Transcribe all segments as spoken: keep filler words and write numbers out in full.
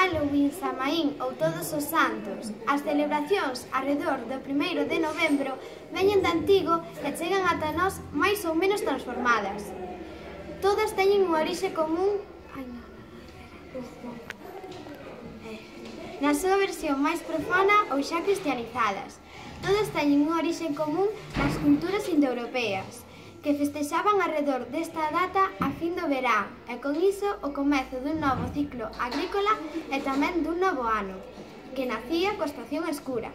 Halloween, Samaín ou Todos os Santos, as celebracións arredor do primeiro de novembro veñen de antigo e chegan ata nós máis ou menos transformadas. Todas teñen unha orixe común Ai, no. na súa versión máis profana ou xa cristianizadas. Todas teñen unha orixe común nas culturas indoeuropeas, que festexaban arredor desta data a fin do verán e con iso o comezo dun novo ciclo agrícola e tamén dun novo ano, que nacía coa estación escura.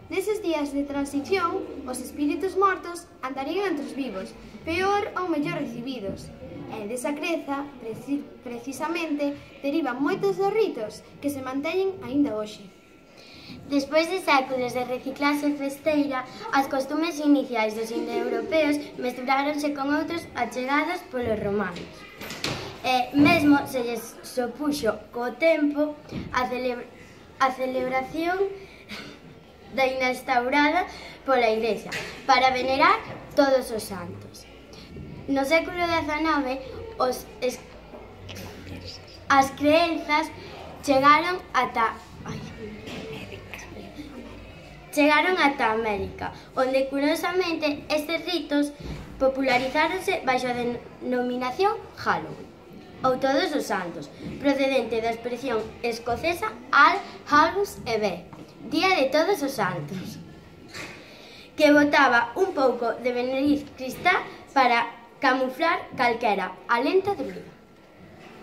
Neses días de transición, os espíritus mortos andarían entre os vivos, peor ou mellor recibidos. E desa creza, preci precisamente, derivan moitos dos ritos que se manteñen aínda hoxe. Despois de séculos de reciclaxe festeira, as costumes iniciais dos indoeuropeos mesturáronse con outros achegados polos romanos. E mesmo se lles sopuxo co tempo a, celebra a celebración da instaurada pola Igrexa para venerar todos os santos. No século dezanove, os es... as crenzas chegaron ata... Ai, chegaron ata América, onde, curiosamente, estes ritos popularizáronse baixo a denominación Halloween, ou Todos os Santos, procedente da expresión escocesa All Hallows Eve, Día de Todos os Santos, que botaba un pouco de beneriz cristá para camuflar calquera alenta druida.